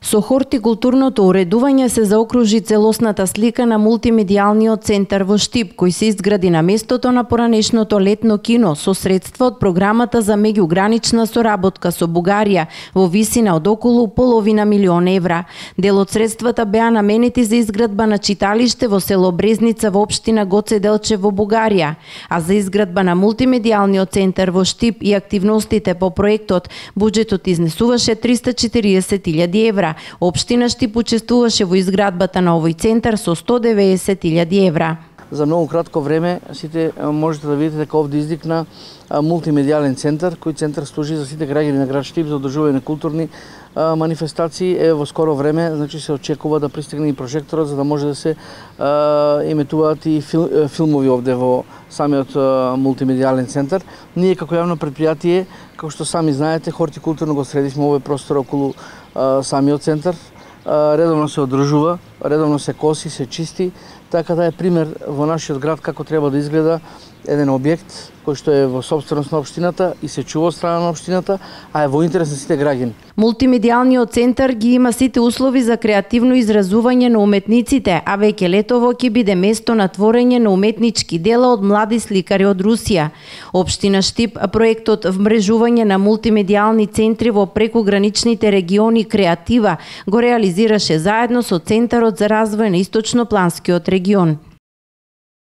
Со хортикултурното уредување се заокружи целосната слика на мултимедијалниот центар во Штип, кој се изгради на местото на поранешното летно кино со средства од програмата за меѓугранична соработка со Бугарија во висина од околу $500,000. Дел од средствата беа наменети за изградба на читалиште во село Брезница во општина Гоце Делчев во Бугарија, а за изградба на мултимедијалниот центар во Штип и активностите по проектот буџетот изнесуваше €340,000. Општина Штип учествуваше во изградбата на овој центар со €190,000. За многу кратко време сите можете да видите дека овде издикна мултимедијален центар, кој центар служи за сите граѓани на град Штип за одржување на културни манифестации. Во скоро време се очекува да пристигне и прожекторот за да може да се емитуваат и филмови овде во самиот мултимедијален центар. Ние како јавно предпријатие, како што сами знаете, хортикултурно го средивме овој простор околу самиот центар. Редовно се одржува, редовно се коси, се чисти, така да е пример во нашиот град како треба да изгледа еден објект кој што е во сопственост на општината и се чува од страна на општината, а е во интерес на сите граѓани. Мултимедијалниот центар ги има сите услови за креативно изразување на уметниците, а веќе летово ќе биде место на творење на уметнички дела од млади сликари од Русија. Општина Штип проектот вмрежување на мултимедијални центри во прекуграничните региони Креатива го реализираше заедно со Центарот за развој на Источнопланскиот регион.